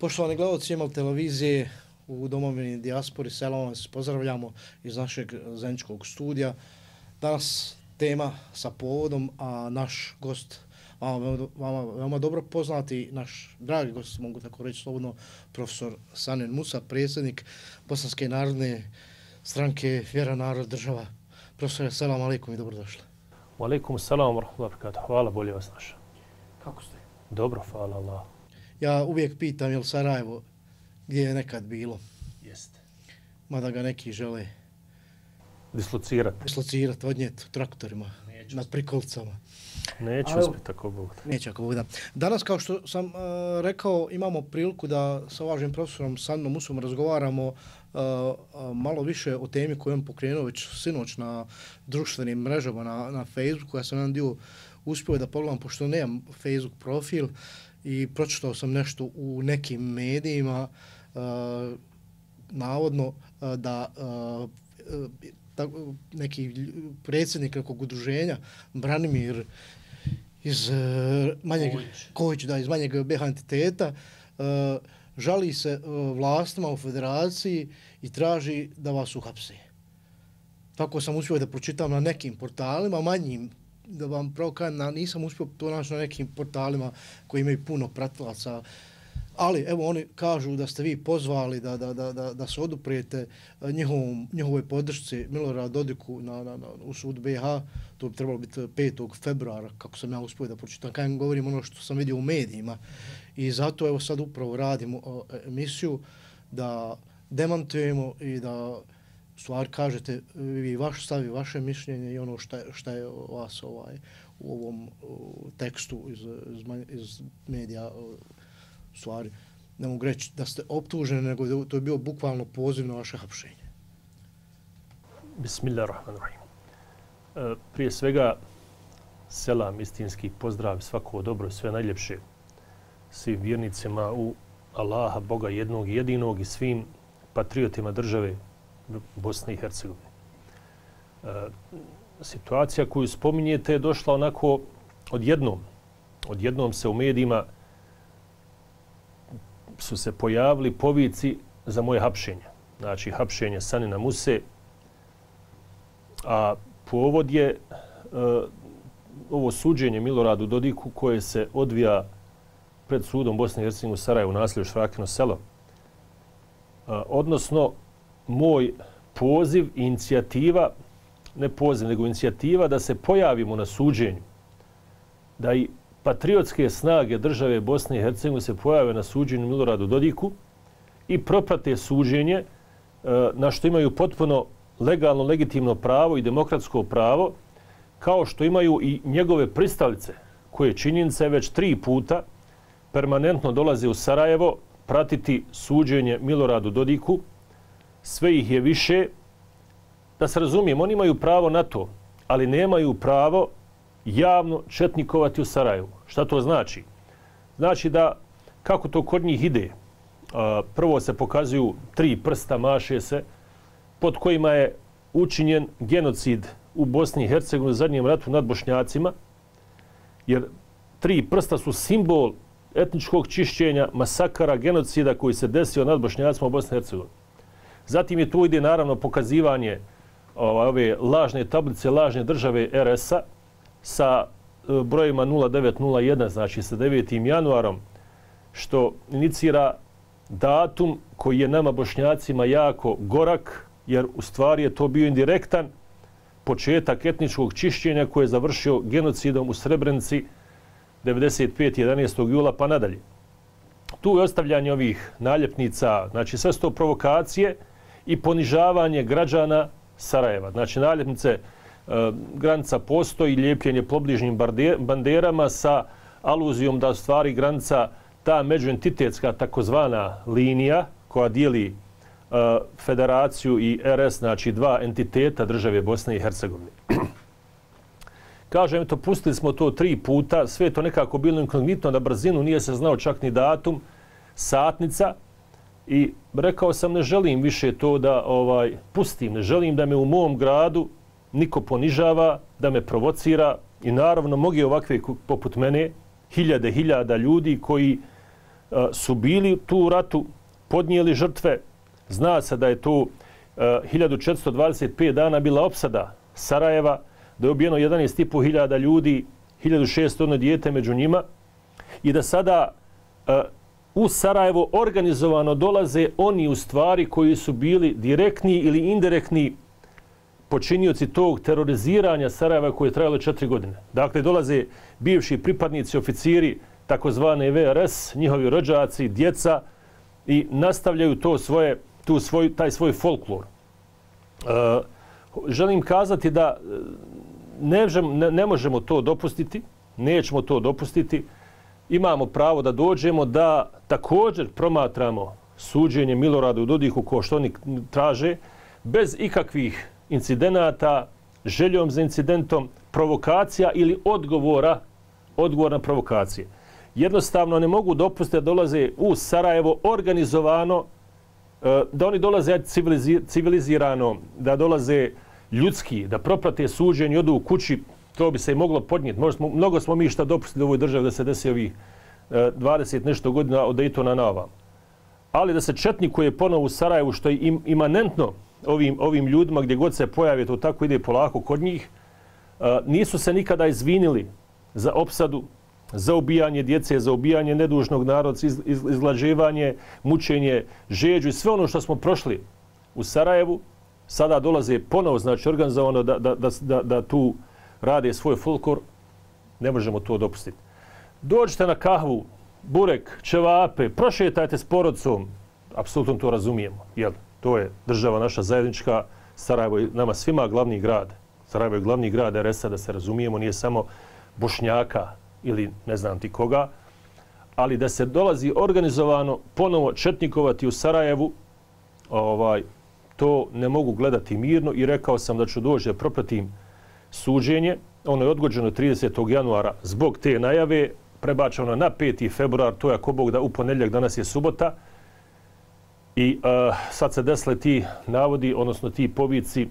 Poštovani gledalci Imal televizije u domovini dijaspori, selam vas pozdravljamo iz našeg zajedničkog studija. Danas tema sa povodom, a naš gost, vama veoma dobro poznati, naš dragi gost, mogu tako reći slobodno, profesor Sanjin Musa, predsjednik Bosanske narodne stranke Vjera, narod, država. Profesore, selam alejkum i dobrodošli. Wa alejkum selam wa rahmetullahi wa barakatuh. Hvala, bolje vas našao. Kako ste? Dobro, hvala Allah. Ja uvijek pitam, je li Sarajevo gdje je nekad bilo? Jeste. Mada ga neki žele dislocirati, odnijeti traktorima, nad prikolicama. Neću uspjeti ako Bog da. Neće ako Bog da. Danas, kao što sam rekao, imamo priliku da sa uvaženim profesorom Sanjinom Musom razgovaramo malo više o temi koju on pokrenuo već sinoć na društvenim mrežama, na Facebooku. Ja sam jedan dio uspio da pogledam, pošto nemam Facebook profil, i pročitao sam nešto u nekim medijima, navodno da neki predsjednik nekog udruženja, Branimir iz manjeg Kojić, iz manjeg BH entiteta, žali se vlastima u federaciji i traži da vas uhapse. Tako sam uspio da pročitam na nekim portalima, manjim, da vam pravo kažem, nisam uspio to naći na nekim portalima koji imaju puno pratilaca, ali evo oni kažu da ste vi pozvali da se oduprijete njihovoj podršci Miloradu Dodiku u sudu BiH. To bi trebalo biti 5. februara, kako sam ja uspio da pročitam. Kajem govorim ono što sam vidio u medijima. I zato evo sad upravo radimo emisiju da demantujemo i da stvari kažete vi vaš stav i vaše mišljenje i ono šta je vas u ovom tekstu iz medija stvari. Ne mogu reći da ste optuženi, nego to je bio bukvalno poziv na vaše hapšenje. Bismillahirrahmanirrahim. Prije svega, selam, istinski pozdrav, svako dobro, sve najljepše svim vjernicima u Allaha, Boga jednog i jedinog i svim patriotima države Bosne i Hercegovine. Situacija koju spominjete je došla onako odjednom. Odjednom se u medijima su se pojavili povici za moje hapšenje. Znači, hapšenje Sanjina Muse. A povod je ovo suđenje Miloradu Dodiku koje se odvija pred sudom Bosne i Hercegovine u Sarajevu, naselju Švrakino selo. Odnosno, moj poziv i inicijativa, ne poziv, nego inicijativa da se pojavimo na suđenju, da i patriotske snage države Bosne i Hercegovine se pojave na suđenju Miloradu Dodiku i proprate suđenje na što imaju potpuno legalno, legitimno pravo i demokratsko pravo, kao što imaju i njegove pristalice, koje činjenice već 3 puta permanentno dolaze u Sarajevo pratiti suđenje Miloradu Dodiku. Sve ih je više. Da se razumijem, oni imaju pravo na to, ali nemaju pravo javno četnikovati u Sarajevu. Šta to znači? Znači da, kako to kod njih ide, prvo se pokazuju 3 prsta, maše se, pod kojima je učinjen genocid u Bosni i Hercegovini u zadnjem ratu nad Bošnjacima, jer 3 prsta su simbol etničkog čišćenja, masakara, genocida koji se desio nad Bošnjacima u Bosni i Hercegovini. Zatim je tu ide naravno pokazivanje ove lažne tablice, lažne države RS-a sa brojima 0901, znači sa 9. januarom, što inicira datum koji je nama Bošnjacima jako gorak, jer u stvari je to bio indirektan početak etničkog čišćenja koje je završio genocidom u Srebrenici 95. 11. jula pa nadalje. Tu je ostavljanje ovih naljepnica, znači sve su to provokacije i ponižavanje građana Sarajeva. Znači naljepnice granica postoji, lijepljenje pobližnjim banderama sa aluzijom da u stvari granica ta međuentitetska takozvana linija koja dijeli federaciju i RS, znači 2 entiteta države Bosne i Hercegovine. Kažem, eto, pustili smo to 3 puta, sve to nekako bilo inkognitno na brzinu, nije se znao čak ni datum, satnica, i rekao sam ne želim više to da pustim, ne želim da me u mom gradu niko ponižava, da me provocira i naravno mnogi ovakve poput mene, hiljada ljudi koji su bili tu u ratu, podnijeli žrtve. Zna se da je tu 1425 dana bila opsada Sarajeva, da je ubijeno 11.500 ljudi, 1600 dijete među njima i da sada u Sarajevo organizovano dolaze oni u stvari koji su bili direktni ili indirektni počinioci tog teroriziranja Sarajeva koje je trajalo 4 godine. Dakle, dolaze bivši pripadnici, oficiri, takozvane VRS, njihovi rođaci, djeca i nastavljaju taj svoj folklor. Želim kazati da ne možemo to dopustiti, nećemo to dopustiti. Imamo pravo da dođemo da također promatramo suđenje Miloradu Dodiku kao što oni traže, bez ikakvih incidenata, željom za incidentom, provokacija ili odgovor na provokacije. Jednostavno ne mogu dopustiti da dolaze u Sarajevo organizovano, da oni dolaze civilizirano, da dolaze ljudski, da proprate suđenje, odu u kući, to bi se i moglo podnijeti. Mnogo smo mi šta dopustili u ovoj državi da se desi ovih 20 nešto godina od Daytona na ovam. Ali da se četnikuje ponovo u Sarajevu, što je imanentno ovim ljudima gdje god se pojave, to tako ide polako kod njih, nisu se nikada izvinili za opsadu, za ubijanje djece, za ubijanje nedužnog naroda, izglađivanje, mučenje, žeđu i sve ono što smo prošli u Sarajevu, sada dolaze ponovo, znači organizovano da tu rade svoj folklor, ne možemo to dopustiti. Dođite na kahvu, burek, ćevape, prošetajte s porodcom, apsolutno to razumijemo. Jel? To je država naša zajednička, Sarajevo je nama svima glavni grad. Sarajevo je glavni grad RS-a, da se razumijemo, nije samo Bošnjaka ili ne znam ti koga, ali da se dolazi organizovano ponovo četnikovati u Sarajevu, to ne mogu gledati mirno i rekao sam da ću doći da propratim suđenje. Ono je odgođeno 30. januara zbog te najave, prebačeno na 5. februar, to je ako Bog da u ponedjeljak, danas je subota. I sad se desile ti navodi, odnosno ti povici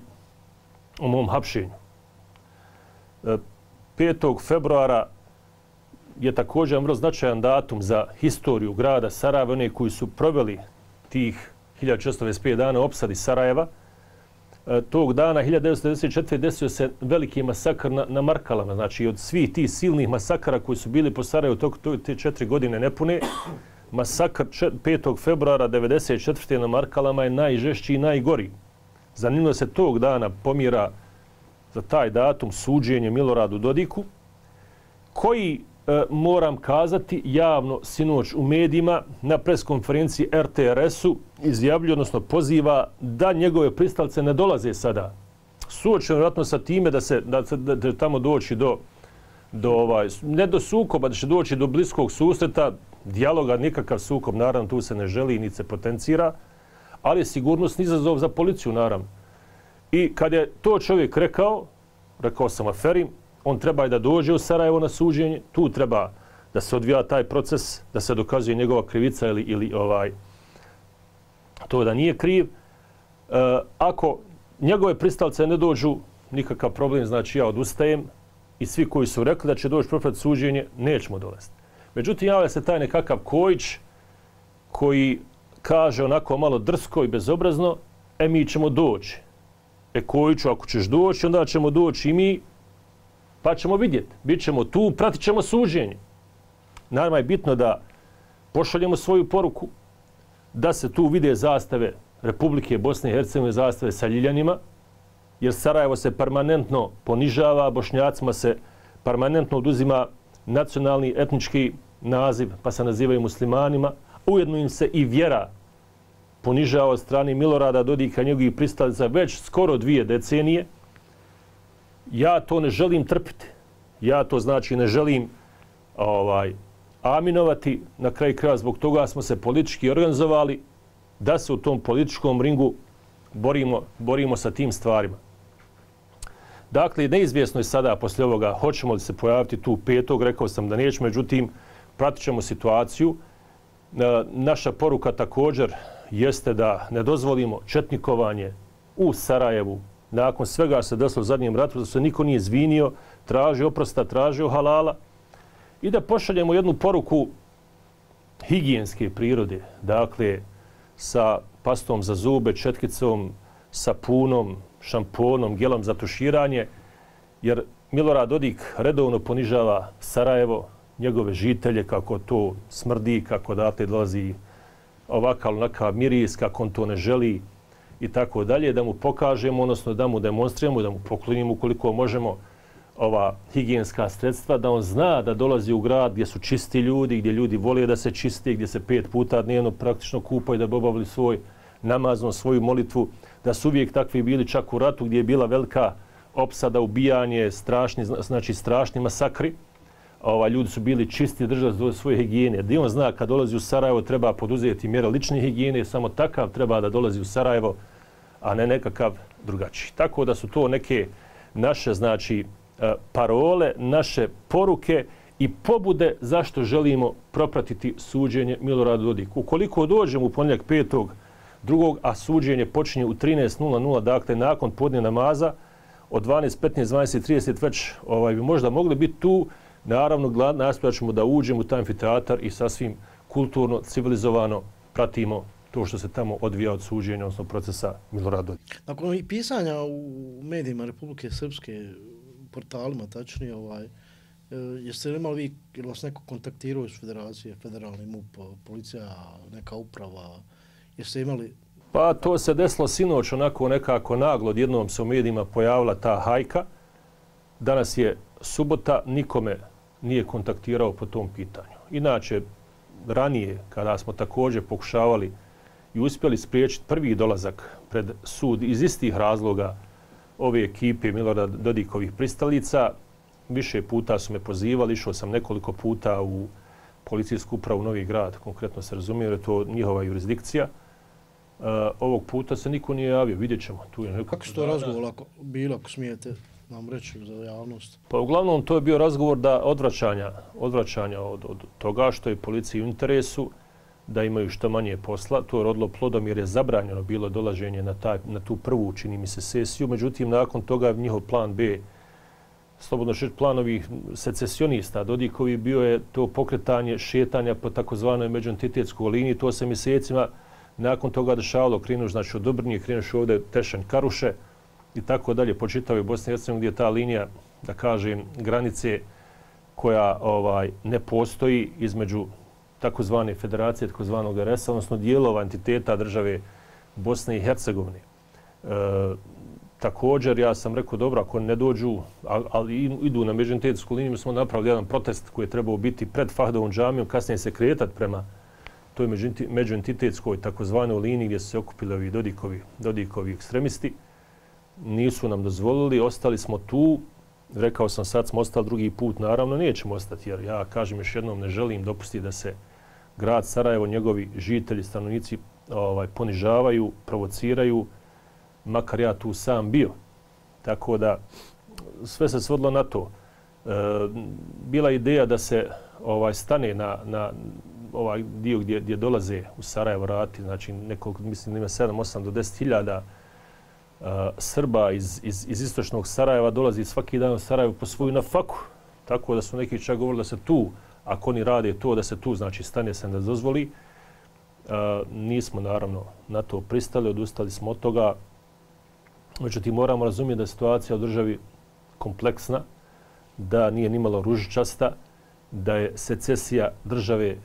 o mom hapšenju. 5. februara je također vrlo značajan datum za historiju grada Sarajeva, one koji su proveli tih 1425 dana opsadi Sarajeva. Tog dana, 1994. desio se veliki masakr na Markalama. Znači, od svih tih silnih masakara koji su bili po Sarajevu te 4 godine nepune, masakr 5. februara 1994. na Markalama je najžešći i najgori. Zanimljivo se tog dana pomjera za taj datum suđenje Miloradu Dodiku, koji, moram kazati, javno sinoć u medijima na preskonferenciji RTRS-u izjavljuje, odnosno poziva da njegove pristalice ne dolaze sada. Suočeno vjerojatno sa time da će tamo doći ne do sukoba, da će doći do bliskog susreta, dijaloga, nikakav sukob, naravno, tu se ne želi ni se potencira, ali je sigurnosni izazov za policiju, naravno. I kad je to čovjek rekao sam aferim, on treba i da dođe u Sarajevo na suđenje, tu treba da se odvija taj proces, da se dokazuje njegova krivica ili to da nije kriv. Ako njegove pristalice ne dođu, nikakav problem, znači ja odustajem i svi koji su rekli da će doći proprat suđenje, nećemo dolaziti. Međutim, javlja se taj nekakav Kojić koji kaže onako malo drsko i bezobrazno, mi ćemo doći. Kojiću, ako ćeš doći, onda ćemo doći i mi, pa ćemo vidjeti. Bićemo tu, pratit ćemo suđenje. Naravno je bitno da pošaljemo svoju poruku, da se tu vide zastave Republike Bosne i Hercegovine, zastave sa ljiljanima, jer Sarajevo se permanentno ponižava, Bošnjacima se permanentno oduzima nacionalni, etnički naziv, pa se nazivaju muslimanima. Ujedno im se i vjera ponižava od strane Milorada Dodika i njegovih pristalica već skoro 2 decenije. Ja to ne želim trpiti. Ja to znači ne želim aminovati. Na kraju kraja zbog toga smo se politički organizovali da se u tom političkom ringu borimo sa tim stvarima. Dakle, neizvjesno je sada poslije ovoga hoćemo li se pojaviti tu 5. Rekao sam da nećemo, međutim, pratit ćemo situaciju. Naša poruka također jeste da ne dozvolimo četnikovanje u Sarajevu. Nakon svega se desilo u zadnjem ratu, da se niko nije izvinio, tražio oprosta, tražio halala i da pošaljemo jednu poruku higijenske prirode, dakle sa pastom za zube, četkicom, sapunom, šamponom, gelom za tuširanje, jer Milorad Dodik redovno ponižava Sarajevo, njegove žitelje, kako to smrdi, kako dakle dolazi ovakav onakav miris, kako on to ne želi i tako dalje, da mu pokažemo, odnosno da mu demonstriramo, da mu poklonimo ukoliko možemo ova higijenska sredstva, da on zna da dolazi u grad gdje su čisti ljudi, gdje ljudi vole da se čiste, gdje se 5 puta dnevno praktično kupaju da bi obavili svoj namaz, svoju molitvu, da su uvijek takvi bili čak u ratu gdje je bila velika opsada, ubijanje, strašni masakri. Ljudi su bili čisti, držali svoje higijene. Gdje on zna kad dolazi u Sarajevo treba poduzeti mjere lične higijene, samo takav treba da dolazi u Sarajevo, a ne nekakav drugačiji. Tako da su to neke naše, parole, naše poruke i pobude zašto želimo propratiti suđenje Miloradu Dodiku. Ukoliko dođemo u ponedjeljak 5.2. a suđenje počinje u 13.00, dakle nakon podne namaza, od 12.15, 12.30 već bi možda mogli biti tu. Naravno, nastojat ćemo da uđemo u taj amfiteatar i sasvim kulturno, civilizovano pratimo to što se tamo odvija od suđenja, odnosno procesa Milorada Dodika. Nakon i pisanja u medijima Republike Srpske, portalima tačnije, jeste li imali vi, ili vas neko kontaktirao iz federacije, federalni MUP, policija, neka uprava, jeste imali? Pa to se desilo sinoć, onako nekako naglo, odjednom se u medijima pojavila ta hajka. Danas je subota, nikome nije kontaktirao po tom pitanju. Inače, ranije, kada smo također pokušavali i uspjeli spriječiti prvi dolazak pred sud iz istih razloga ove ekipe Milorada Dodikovih pristalica, više puta su me pozivali, išao sam nekoliko puta u policijsku upravu Novi Grad, konkretno se razumije, jer je to njihova jurisdikcija. Ovog puta se niko nije javio, vidjet ćemo. Kako su to razgovor bilo, ako smijete nam reći za javnost? Pa uglavnom to je bio razgovor odvraćanja od toga što je policiji u interesu, da imaju što manje posla. To je rodilo plodom jer je zabranjeno bilo dolaženje na tu prvu, čini mi se, sesiju. Međutim, nakon toga njihov plan B, slobodno šeć plan ovih secesionista Dodikovi, bio je to pokretanje šetanja po takozvanoj međuentitetskoj liniji. To se mjesecima nakon toga dešavalo, krenuš od Dobrnije, krenuš ovdje Tešanj, Karuše i tako dalje, po čitavoj Bosni i Hercegovini, gdje je ta linija, da kažem, granice koja ne postoji između takozvane federacije, takozvanog RS-a, odnosno dijelova entiteta države Bosne i Hercegovine. Također, ja sam rekao, dobro, ako ne dođu, ali idu na međuentitetsku liniju, mi smo napravili jedan protest koji je trebao biti pred Fahdovom džamijom, kasnije se kretati prema toj međuentitetskoj takozvanoj liniji gdje su se okupili ovi Dodikovi ekstremisti. Nisu nam dozvolili, ostali smo tu. Rekao sam, sad smo ostali drugi put, naravno nećemo ostati, jer ja kažem još jednom, ne želim dopustiti da se grad Sarajevo, njegovi žitelji, stanovnici ponižavaju, provociraju, makar ja tu sam bio. Tako da sve se svodilo na to. Bila ideja da se stane na ovaj dio gdje dolaze u Sarajevo rati, znači nekoliko, mislim da ima 7-8 do 10.000 Srba iz istočnog Sarajeva dolazi svaki dan u Sarajevo po svoju nafaku. Tako da su neki čak govorili da se tu, ako oni rade to, da se tu, znači stane se da dozvoli. Nismo naravno na to pristali, odustali smo od toga. Međutim, moramo razumjeti da je situacija u državi kompleksna, da nije nimalo ružičasta, da je secesija države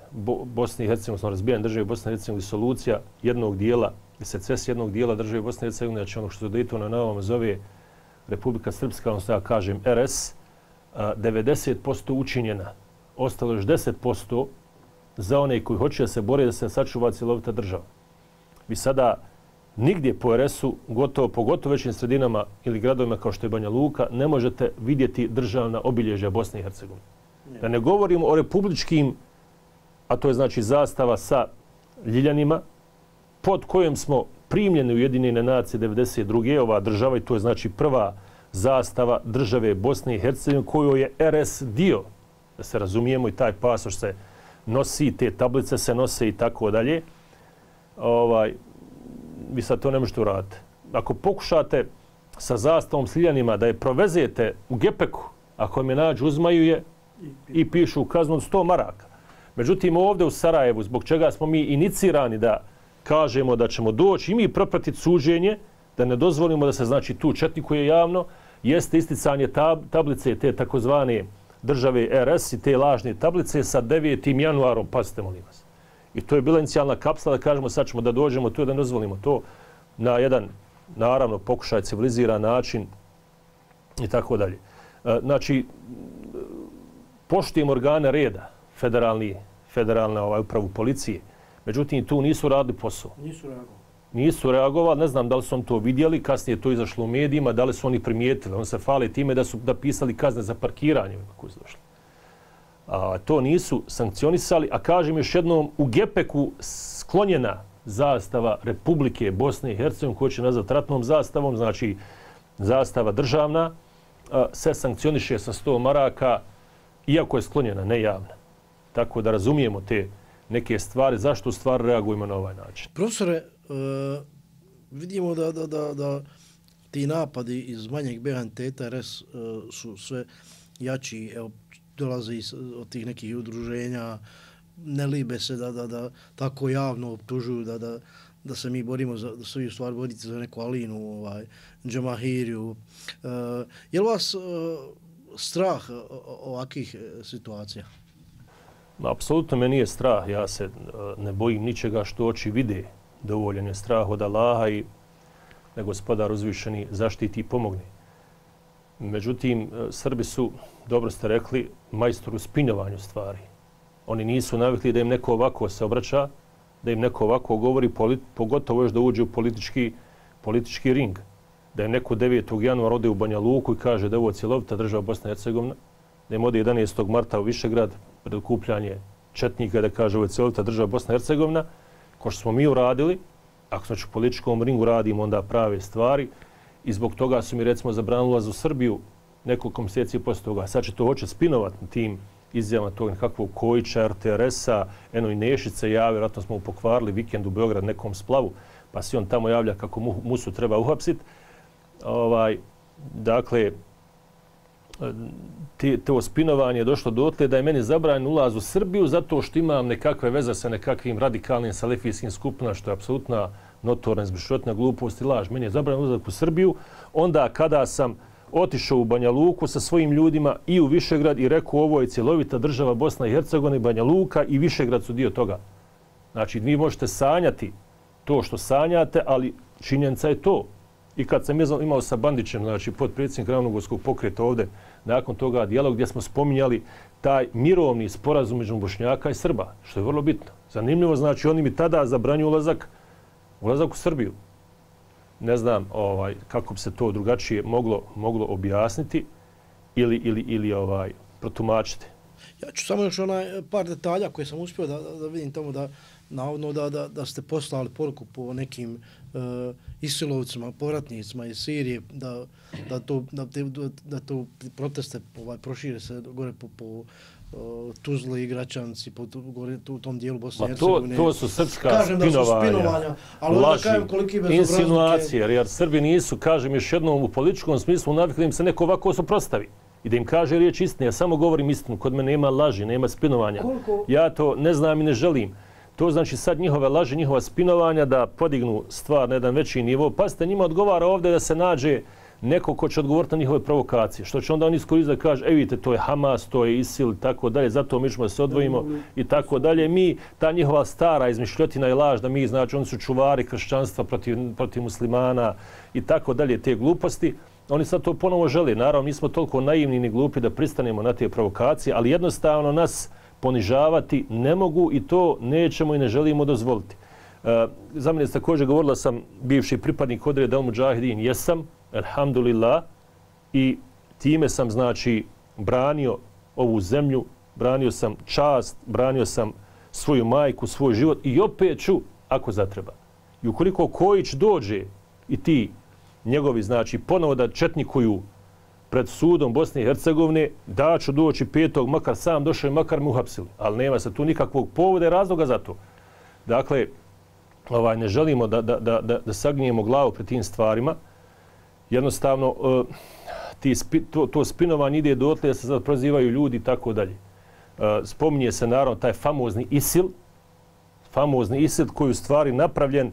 Bosne i Hercegovine, odnosno razbijanje države Bosne i Hercegovine, solucija jednog dijela, secesija jednog dijela države Bosne i Hercegovine, znači ono što se Daytona na ovom zove Republika Srpska, odnosno ja kažem RS, 90% učinjena. Ostalo još 10% za one koji hoće da se bore da se sačuva cjelovita država. Vi sada nigdje po RS-u, pogotovo većim sredinama ili gradovima kao što je Banja Luka, ne možete vidjeti državna obilježja Bosne i Hercegovine. Da ne govorimo o republičkim, a to je znači zastava sa ljiljanima, pod kojom smo primljeni u Ujedinjene nacije 1992. ova država, i to je znači prva zastava države Bosne i Hercegovine kojoj je RS dio, da se razumijemo, i taj pasoš se nosi, te tablice se nose i tako dalje. Vi sad to ne možete uraditi. Ako pokušate sa zastavom s ljiljanima da je provezete u gepeku, ako me nađu, uzmaju je i pišu kaznu od 100 maraka. Međutim, ovdje u Sarajevu, zbog čega smo mi inicirani da kažemo da ćemo doći i mi propratiti suđenje, da ne dozvolimo da se znači tu četnikuje javno, jeste isticanje tablice te takozvane države RS i te lažne tablice sa 9. januarom, pazite molim vas. I to je bila inicijalna kapsula da kažemo sad ćemo da dođemo tu da ne dozvolimo to na jedan, naravno, pokušaj civiliziran način i tako dalje. Znači, poštujemo organe reda, federalna upravu policije, međutim tu nisu radili posao. Nisu reagovali, ne znam da li su oni to vidjeli, kasnije je to izašlo u medijima, da li su oni primijetili. On se fali time da su pisali kazne za parkiranje koji su došli. To nisu sankcionisali, a kažem još jednom, u Gepeku sklonjena zastava Republike Bosne i Hercegovine, koju će nazvati ratnom zastavom, znači zastava državna, se sankcioniše sa 100 maraka, iako je sklonjena, ne javna. Tako da razumijemo te neke stvari, zašto u stvari reagujemo na ovaj način. Profesore, vidimo da ti napadi iz manjeg BH entiteta RS su sve jači, evo, dolaze od tih nekih udruženja, ne libe se da tako javno optužuju da se mi borimo, da se vi u stvari borite za neku Alinu, Džamahiriju. Je li vas strah ovakvih situacija? Apsolutno me nije strah. Ja se ne bojim ničega što oči vide. Dovoljan je strah od Allaha i da Gospodar uzvišeni zaštiti i pomogne. Međutim, Srbi su, dobro ste rekli, majstor u spinjovanju stvari. Oni nisu navikli da im neko ovako se obraća, da im neko ovako govori, pogotovo još da uđe u politički ring. Da im neko 9. januara ode u Banja Luku i kaže da je ovo cjelovita država Bosna i Hercegovina, da im ode 11. marta u Višegrad pred okupljanje četnika da kaže ovo je cjelovita država Bosna i Hercegovina, ko što smo mi uradili, ako znači u političkom ringu radimo onda prave stvari i zbog toga su mi recimo zabranili ulaz u Srbiju nekoliko mjeseci poslije toga. Sad će to hoće spinovati na tim izjavama tog nekakvog Kojića, RTRS-a, eno i Nešice javi, vjerojatno smo mu pokvarili vikend u Beograd nekom splavu, pa si on tamo javlja kako Musu treba uhapsiti. Dakle, to spinovanje je došlo dotle da je meni zabranjen ulaz u Srbiju zato što imam nekakve veze sa nekakvim radikalnim salafijskim skupinama, što je apsolutna notorna izmišljotna glupost i laž. Meni je zabranjen ulazak u Srbiju onda kada sam otišao u Banja Luku sa svojim ljudima i u Višegrad i rekao ovo je cjelovita država Bosna i Hercegovina i Banja Luka i Višegrad su dio toga. Znači, vi možete sanjati to što sanjate, ali činjenica je to. I kad sam imao sa Bandićem, znači potpredsjednik Ravnogorskog pokreta ovdje, nakon toga dijalog gdje smo spominjali taj mirovni sporazum među Bošnjaka i Srba, što je vrlo bitno. Zanimljivo, znači oni mi tada zabranju ulazak u Srbiju. Ne znam kako bi se to drugačije moglo objasniti ili protumačiti. Ja ću samo još par detalja koje sam uspio da vidim tamo navodno da ste poslali poruku po nekim isilovcima, povratnicima iz Sirije, da to proteste prošire se gore po Tuzli i Gračanci, u tom dijelu Bosne i Hercegovine. To su srpska spinovanja, laži, insinuacije, jer Srbi nisu, kažem još jednom, u političkom smislu navikli im se neko ovako suprotstavi i da im kaže riječ istine. Ja samo govorim istinu, kod mene nema laži, nema spinovanja. Ja to ne znam i ne želim. To znači sad njihove laži, njihova spinovanja da podignu stvar na jedan veći nivo. Pazite, njima odgovara ovdje da se nađe neko ko će odgovoriti na njihove provokacije. Što će onda oni iskoristiti da kaže, vidite, to je Hamas, to je ISIL i tako dalje, zato mi ćemo da se odvojimo i tako dalje. Mi, ta njihova stara izmišljotina i laž da mi, znači, oni su čuvari kršćanstva protiv muslimana i tako dalje, te gluposti. Oni sad to ponovo žele. Naravno, nismo toliko naivni ni glupi da pristanemo na te provokacije, ali jednostavno nas ponižavati ne mogu i to nećemo i ne želimo dozvoliti. Za mene također govorila sam bivši pripadnik Odreda al-Mudžahidin, jesam, alhamdulillah, i time sam, znači, branio ovu zemlju, branio sam čast, branio sam svoju majku, svoj život i opet ću, ako zatreba. I ukoliko Kojić dođe i ti njegovi, znači, ponovo da četnikuju pred sudom Bosne i Hercegovine, da ću doći 5. makar sam došao i makar me uhapsili. Ali nema se tu nikakvog povoda i razloga za to. Dakle, ne želimo da sagnijemo glavu pred tim stvarima. Jednostavno, to spinovanje ide dotle da se sad prozivaju ljudi i tako dalje. spominje se naravno taj famozni ISIL koji je u stvari napravljen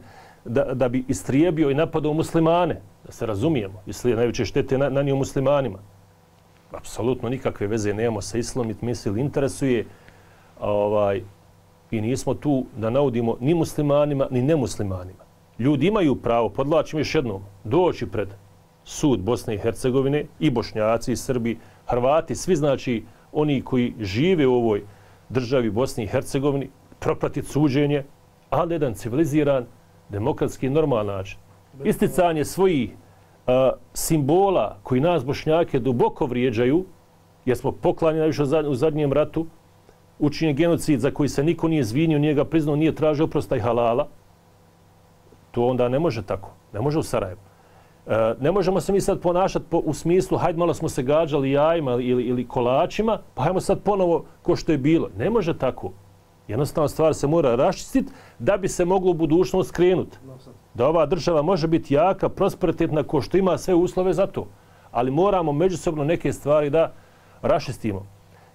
da bi istrijebio i napadao muslimane, da se razumijemo. ISIL je najveće štete nanio muslimanima. Apsolutno nikakve veze nemamo sa ISIL-om, i ISIL interesuje i nismo tu da naudimo ni muslimanima ni nemuslimanima. Ljudi imaju pravo, podlačim još jednom, doći pred sud Bosne i Hercegovine, i Bošnjaci, i Srbi, Hrvati, svi znači oni koji žive u ovoj državi Bosni i Hercegovini, propratiti suđenje, ali jedan civiliziran, demokratski, normalan način. Isticanje svojih simbola koji nas Bošnjake duboko vrijeđaju, jer smo poklanjeni najviše u zadnjem ratu, učinjen genocid za koji se niko nije izvinio, nije ga priznao, nije tražio oprosta i halala, to onda ne može tako. Ne može u Sarajevu. Ne možemo se mi sad ponašati u smislu hajde malo smo se gađali jajima ili kolačima, pa hajmo sad ponovo ko što je bilo. Ne može tako. Jednostavno stvar se mora raščistiti da bi se moglo u budućnost skrenuti. Da ova država može biti jaka, prosperitetna, ko što ima sve uslove za to. Ali moramo međusobno neke stvari da raščistimo.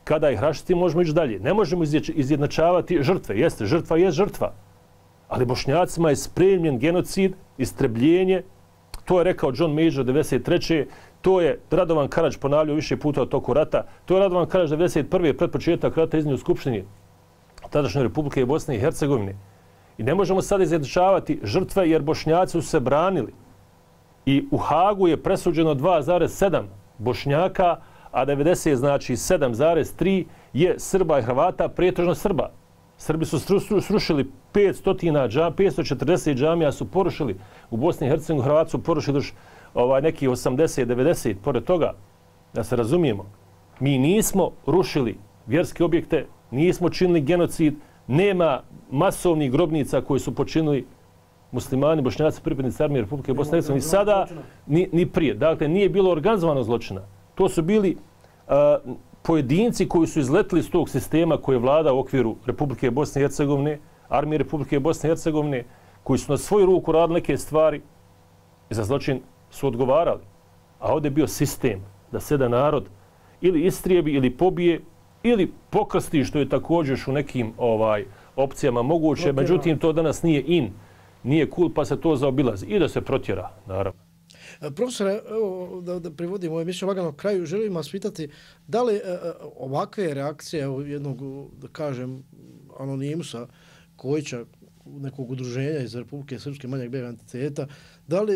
Kada ih raščistimo, možemo ići dalje. Ne možemo izjednačavati žrtve. Jeste, žrtva je žrtva. Ali Bošnjacima je spremljen genocid, istrebljenje. To je rekao John Major 1993. To je Radovan Karadž ponavljao više puta u toku rata. To je Radovan Karadž 1991. pred početak rata iznio u Skupštini tadašnje Republike Bosne i Hercegovine. I ne možemo sad izjednačavati žrtve jer Bošnjaci su se branili. I u Hagu je presuđeno 2,7 Bošnjaka, a 90, znači 7,3 je Srba i Hrvata, pretežno Srba. Srbi su srušili 540 džamija su porušili u Bosni i Hercegovini, Hrvati su porušili još neki 80-90. Pored toga, da se razumijemo, mi nismo rušili vjerske objekte, nismo činili genocid, nema masovnih grobnica koji su počinili muslimani, Bošnjaci, pripadnici armije Republike Bosne i Hercegovine, ni sada, ni prije. Dakle, nije bilo organizovanog zločina. To su bili pojedinci koji su izletili iz tog sistema koji je vlada u okviru Republike Bosne i Hercegovine, armije Republike Bosne i Hercegovine, koji su na svoju ruku radili neke stvari i za zločin su odgovarali. A ovdje je bio sistem da se jedan narod ili istrijebi ili pobije ili pokrsti, što je također u nekim opcijama moguće. Međutim, to danas nije in, nije cool, pa se to zaobilazi. I da se protjera, naravno. Profesore, da privodimo ovo emisiju lagano kraju, želim vas pitati da li ovakve reakcije jednog, da kažem, anonimusa Kojića, nekog udruženja iz Republike Srpske manjeg BiH entiteta,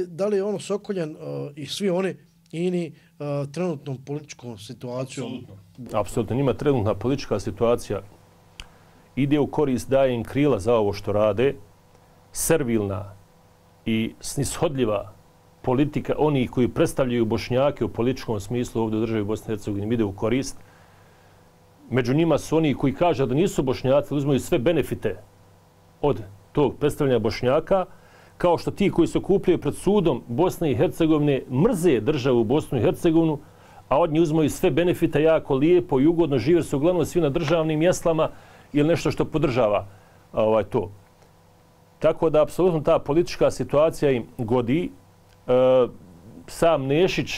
da li je ono Sokoljan i svi oni ini trenutnom političkom situacijom? Apsolutno. Njima trenutna politička situacija ide u korist, daje im krila za ovo što rade, servilna i snishodljiva politika onih koji predstavljaju Bošnjake u političkom smislu ovdje u državi Bosne i Hercegovine ide u korist. Među njima su oni koji kažu da nisu Bošnjaci, uzmaju sve benefite od tog predstavljanja Bošnjaka, kao što ti koji se okupljaju pred sudom Bosne i Hercegovine mrze državu Bosnu i Hercegovinu, a od njih uzmaju sve benefite jako lijepo i ugodno žive, su uglavnom svi na državnim mjeslama ili nešto što podržava to. Tako da, apsolutno, ta politička situacija im godi. Sam Nešić,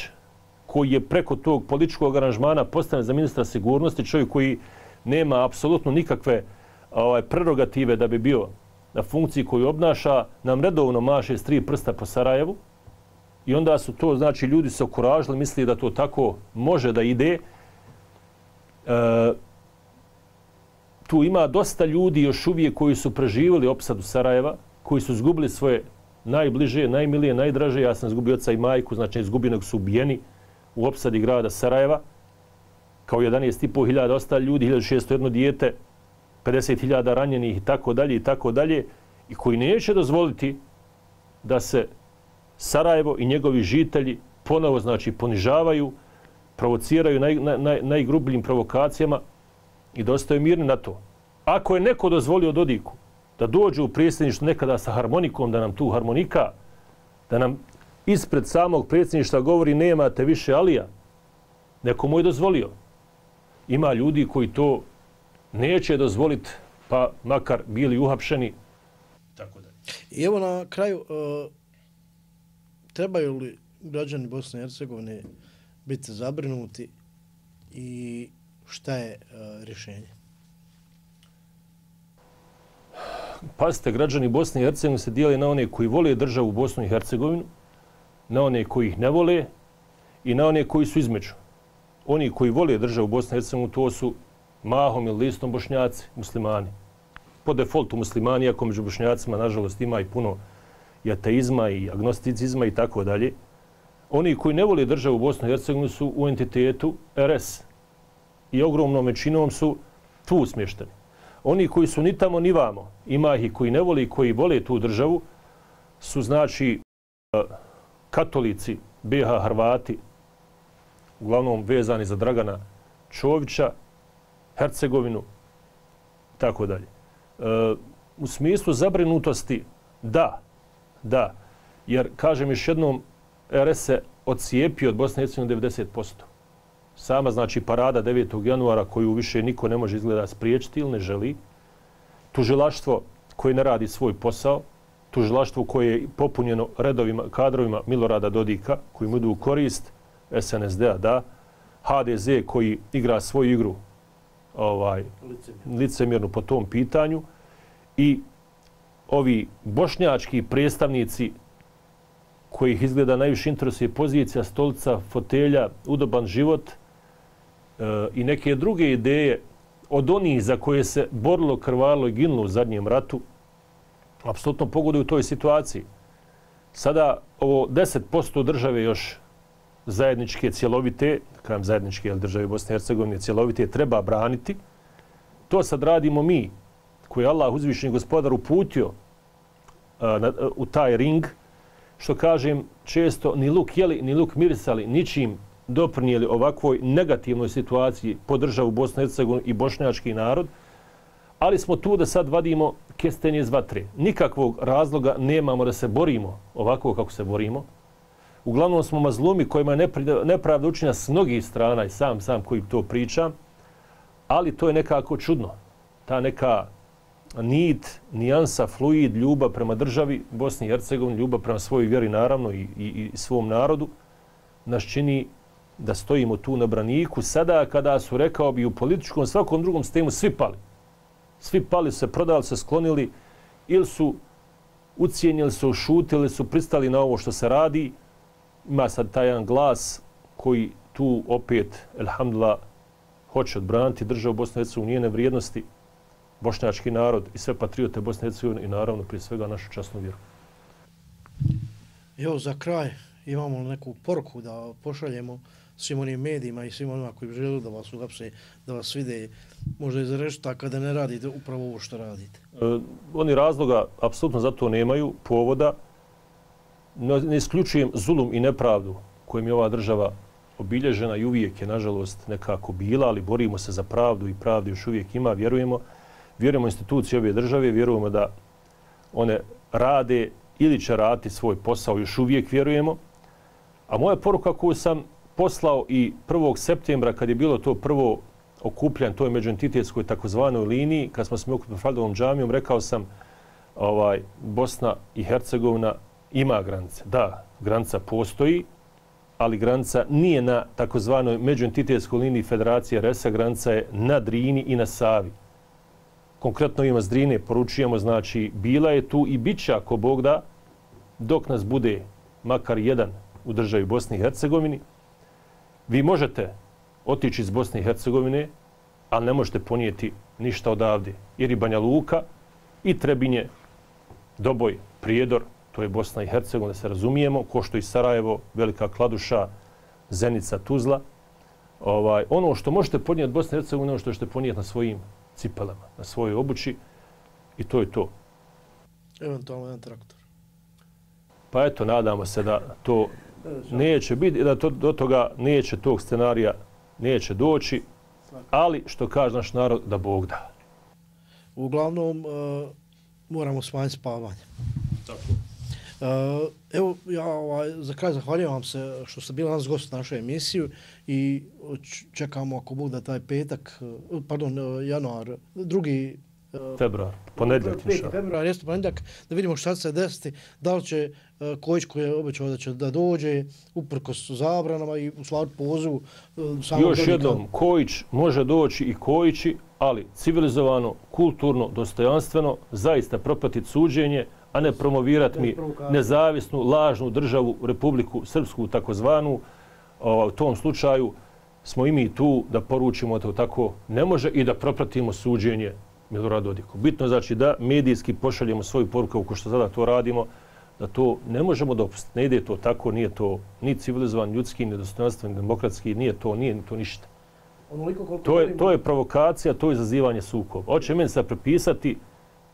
koji je preko tog političkog aranžmana postavljen za ministra sigurnosti, čovjek koji nema apsolutno nikakve prerogative da bi bio na funkciji koju obnaša, nam redovno maše s 3 prsta po Sarajevu. I onda su to, znači, ljudi se okuražili, misli da to tako može da ide. Tu ima dosta ljudi još uvijek koji su preživjeli opsadu Sarajeva, koji su izgubili svoje najbliže, najmilije, najdraže. Ja sam izgubio oca i majku, znači izgubljenog su ubijeni u opsadi grada Sarajeva. Kao 11.500 ostali ljudi, 1601 dijete, 50.000 ranjenih i tako dalje i tako dalje. I koji neće dozvoliti da se Sarajevo i njegovi žitelji ponovo, znači, ponižavaju, provociraju najgrubljim provokacijama i da ostaju mirni na to. Ako je neko dozvolio Dodiku da dođe u predsjedništvo nekada sa harmonikom, da nam tu harmonika, da nam ispred samog predsjedništva govori nemate više Alija, neko mu je dozvolio. Ima ljudi koji to neće dozvoliti, pa makar bili uhapšeni. Tako da. I evo na kraju, trebaju li građani Bosne i Hercegovine biti zabrinuti i šta je rješenje? pazite, građani Bosne i Hercegovine se dijeli na one koji vole državu Bosnu i Hercegovinu, na one koji ih ne vole i na one koji su između. Oni koji vole državu Bosne i Hercegovine, to su mahom ili listom Bošnjaci, muslimani. Po defaultu muslimani, iako među Bošnjacima, nažalost, ima i puno i ateizma i agnosticizma i tako dalje. Oni koji ne vole državu Bosne i Hercegovine su u entitetu RS i ogromnom većinom su tu smješteni. Oni koji su ni tamo ni vamo, ima ih koji ne vole i koji vole tu državu, su znači katolici, BiH Hrvati, uglavnom vezani za Dragana Čovića, Hercegovinu, tako dalje. U smislu zabrinutosti, da, jer, kažem još jednom, RS se odcijepio od Bosne i Hercegovine 90%. Sama, znači, parada 9. januara koju više niko ne može izgleda spriječiti ili ne želi. Tužilaštvo koje ne radi svoj posao, tužilaštvo koje je popunjeno redovima, kadrovima Milorada Dodika, koji mu idu u korist, SNSD-a, da, HDZ koji igra svoju igru licemjernu po tom pitanju i ovi bošnjački predstavnici kojih izgleda najviše interesuje pozicija, stolica, fotelja, udoban život i neke druge ideje od onih za koje se borilo, krvarilo i ginulo u zadnjem ratu, apsolutno pogoduju u toj situaciji. Sada ovo 10% države još zajedničke, cjelovite, kažem zajedničke, ali države Bosne i Hercegovine cjelovite, treba braniti. To sad radimo mi, koji je Allah uzvišeni gospodar uputio u taj ring, što kažem često ni luk jeli, ni luk mirisali, ničim doprinijeli ovakvoj negativnoj situaciji po državu Bosne i Hercegovine i bošnjački narod, ali smo tu da sad vadimo kestenje iz vatre. Nikakvog razloga nemamo da se borimo ovako kako se borimo. Uglavnom smo mazlumi kojima je nepravda učinjena s mnogih strana i sam koji to pričam, ali to je nekako čudno. Ta neka nit, nijansa, fluid, ljubav prema državi Bosni i Hercegovini, ljubav prema svojoj vjeri naravno i svom narodu, nas čini da stojimo tu na braniku sada kada su, rekao bi, u političkom svakom drugom sistemu svi pali. Svi pali se, prodali se, sklonili ili su ucijenili, su šutili, su pristali na ovo što se radi. Ima sad taj jedan glas koji tu opet, elhamdulillah, hoće odbraniti državu Bosne i Hercegovine, njene vrijednosti, bošnjački narod i sve patriote Bosne i Hercegovine i naravno prije svega našu časnu vjeru. Evo za kraj imamo neku poruku da pošaljemo svim onim medijima i svim onima koji žele da vas uhapse, da vas vide, možda i za reštaka da ne radite upravo ovo što radite. Oni razloga apsolutno za to nemaju, povoda. Ne isključujem zulum i nepravdu kojim je ova država obilježena i uvijek je, nažalost, nekako bila, ali borimo se za pravdu i pravdu još uvijek ima, vjerujemo institucije ove države, vjerujemo da one rade ili će raditi svoj posao, još uvijek vjerujemo. A moja poruka koju sam poslao i 1. septembra kad je bilo to prvo okupljanje, to je međuentitetskoj takozvanoj liniji, kad smo se okupili Faldovom džamijom, rekao sam Bosna i Hercegovina ima granice. Da, granica postoji, ali granica nije na takozvanoj međuentitetskoj liniji Federacije RS-a, granica je na Drini i na Savi. Konkretno ima s Drine poručujemo, znači bila je tu i bit će ako Bog da, dok nas bude makar jedan u državi Bosni i Hercegovini. Vi možete otići iz Bosne i Hercegovine, ali ne možete ponijeti ništa odavde. Jer i Banja Luka, i Trebinje, Doboj, Prijedor, to je Bosna i Hercegovina, da se razumijemo, ko što i Sarajevo, Velika Kladuša, Zenica, Tuzla. Ono što možete podnijeti od Bosne i Hercegovine, ono što ćete ponijeti na svojim cipelama, na svojoj obući, i to je to. Eventualno jedan traktor. Pa eto, nadamo se da to neće biti, da do toga neće, tog scenarija neće doći, ali što kaže naš narod, da Bog da. Uglavnom, moramo smanjiti spavanje. Tako. Evo, ja za kraj zahvaljujem vam se što ste bili nas gost naše emisiju i čekamo ako Bog da taj petak, januar, 2. februar, ponedjeljak. 5. februar, jeste ponedjeljak, da vidimo šta će se desiti, da li će Kojić koji je obećao da će da dođe uprkos zabranama i u stvari pozivu. Još jednom, Kojić može doći i Kojići, ali civilizovano, kulturno, dostojanstveno, zaista propratiti suđenje, a ne promovirati mi nezavisnu, lažnu državu, Republiku Srpsku, takozvanu. U tom slučaju smo i mi tu da poručimo da tako ne može i da propratimo suđenje Miloradu Dodiku. Bitno znači da medijski pošaljemo svoju poruku, kao što sada to radimo, da to ne možemo dopustiti. Ne ide to tako, nije to ni civilizovan, ljudski, ni dostojanstven, ni demokratski, nije to ništa. To je provokacija, to je izazivanje sukoba. Hoće meni sad prepisati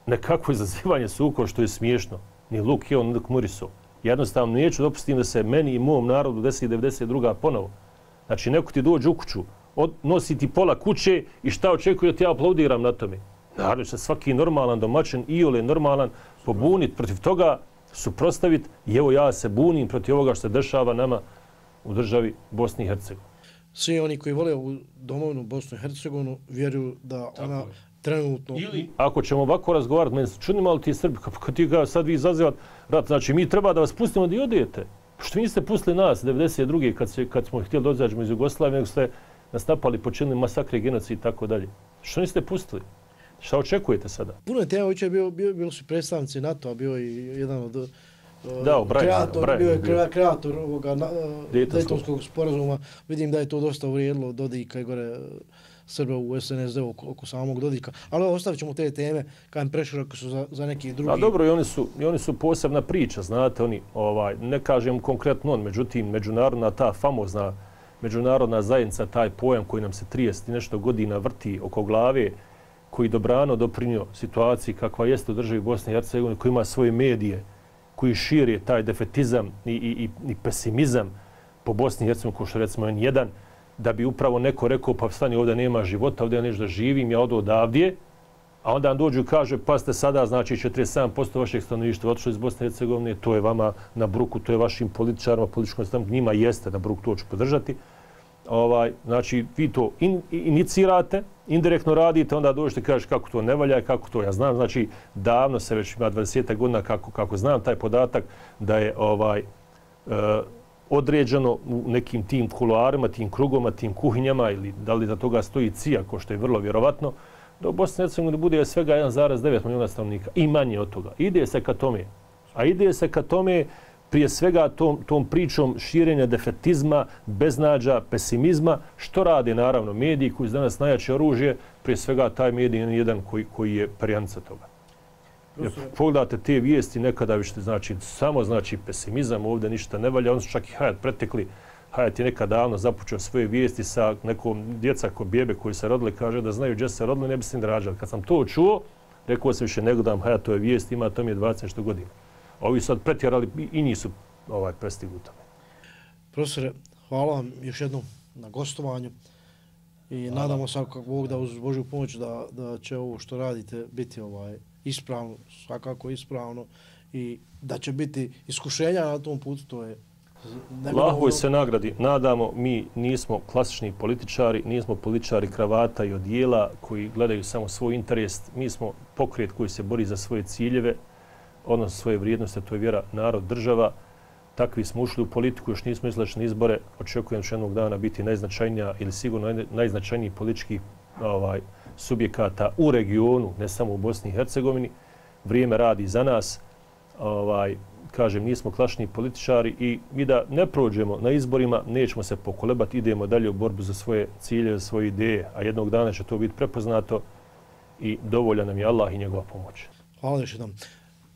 nekako izazivanje sukoba što je smiješno. Ni Luk Jeo, ni Luk Muriso. Jednostavno neću dopustiti da se meni i mom narodu desi 92. ponovo. Znači neko ti dođe u kuću, nosi ti pola kuće i šta očekuje da ti ja aplaudiram na tome. Naravno se svaki normalan domaćin, iole normalan, pobuniti protiv toga, suprotstaviti i evo ja se bunim protiv ovoga što se dešava nama u državi Bosni i Hercegovini. Svi oni koji vole u domovinu Bosnu i Hercegovinu vjeruju da ona trenutno... Ili, ako ćemo ovako razgovarati, meni se čudimo, ali ti Srbi, kako ti ga sad vi izazivati rat, znači mi treba da vas pustimo da i odijete. Što vi niste pustili nas 92. kad smo htjeli dozađemo iz Jugoslavije, nego ste nas napali, počinili masakre, genocid i tako dalje. Što niste pustili? Šta očekujete sada? Puno je tema, uče bilo su predstavnici NATO-a, bio i jedan od kreator ovoga Dejtonskog sporazuma. Vidim da je to dosta uvrijedilo Dodika i gore Srba u SNSD oko samog Dodika. Ali ostavit ćemo te teme kad im preširoko su za neki drugi. A dobro, i oni su posebna priča, znate, oni, ne kažem konkretno on, međutim, međunarodna ta famozna međunarodna zajednica, taj pojam koji nam se 30 i nešto godina vrti oko glave, koji dobrano doprinio situaciji kakva jeste u državi Bosne i Hercegovine, koji ima svoje medije, koji širi taj defetizam i pesimizam po Bosni i Hercegovini, ko što recimo N1, da bi upravo neko rekao, pa stani, ovdje nema života, ovdje ja nešto da živim, ja odo odavdje, a onda on dođu i kaže, pa ste sada, znači 47% vašeg stanovništva otišlo iz Bosne i Hercegovine, to je vama na bruku, to je vašim političarima, političkom stavu, njima jeste na bruku, to ću podržati. Znači, vi to inicirate, indirektno radite, onda dođete i kažete kako to ne valja, kako to ja znam. Znači, davno se već ima 20 godina kako znam taj podatak da je određeno u nekim tim kuloarima, tim krugoma, tim kuhinjama ili da li za toga stoji CIA, ko što je vrlo vjerovatno, da u Bosni i Hercegovini bude svega 1,9 milijuna stanovnika i manje od toga. Ide se ka tome. A ide se ka tome prije svega tom pričom širenja defetizma, beznađa, pesimizma, što rade naravno mediji koji su danas najjače oružje, prije svega taj medij je jedan koji je perjanica toga. Jer pogledate te vijesti nekada više, znači samo znači pesimizam, ovdje ništa ne valja, oni su čak i Hayat pretekli. Hayat je nekad davno započeo svoje vijesti sa nekom djeca ko bjebe koji se rodili, kaže da znaju gdje se rodili, ne bi se ni rađali. Kad sam to čuo, rekao sam više ne gledam Hayatove vijesti, ima to mi je 20 nešto godina. Ovi su sad pretjerali i nisu prestigli u tome. Profesore, hvala vam još jednom na gostovanju i nadamo se kako Bog da uz Božju pomoć da će ovo što radite biti ispravno, svakako ispravno i da će biti iskušenja na tom putu, to je... Allahoj se nagradi. Nadamo, mi nismo klasični političari, nismo političari kravata i odijela koji gledaju samo svoj interes. Mi smo pokret koji se bori za svoje ciljeve, odnosno svoje vrijednosti, to je vjera, narod, država. Takvi smo ušli u politiku, još nismo izašli na izbore. Očekujem će jednog dana biti najznačajnija ili sigurno najznačajniji politički subjekata u regionu, ne samo u Bosni i Hercegovini. Vrijeme radi za nas. Kažem, nismo klasični političari i mi da ne prođemo na izborima, nećemo se pokolebati, idemo dalje u borbu za svoje cilje, za svoje ideje, a jednog dana će to biti prepoznato i dovoljan nam je Allah i njegova pomoć. Hvala još jednom.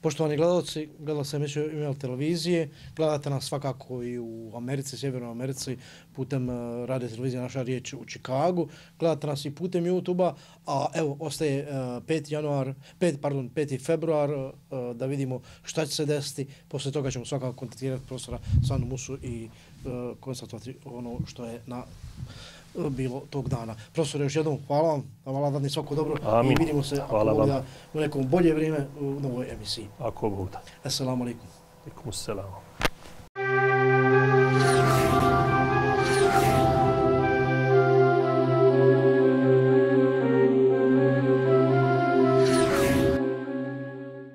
Poštovani gledalci, gledali ste emisiju Email televizije, gledate nas svakako i u Americi, Sjevernoj Americi, putem radio televizije Naša riječ u Čikagu, gledate nas i putem YouTube-a, a evo, ostaje 5. februar da vidimo šta će se desiti, poslije toga ćemo svakako kontaktirati profesora Sandu Musu i konstatovati ono što je bilo tog dana. Profesore, još jednom hvala vam, hvala vam svako dobro. Amin. I vidimo se u nekom bolje vrijeme u novoj emisiji. Ako Bog da. Assalamu alaikum. Alaikum assalam.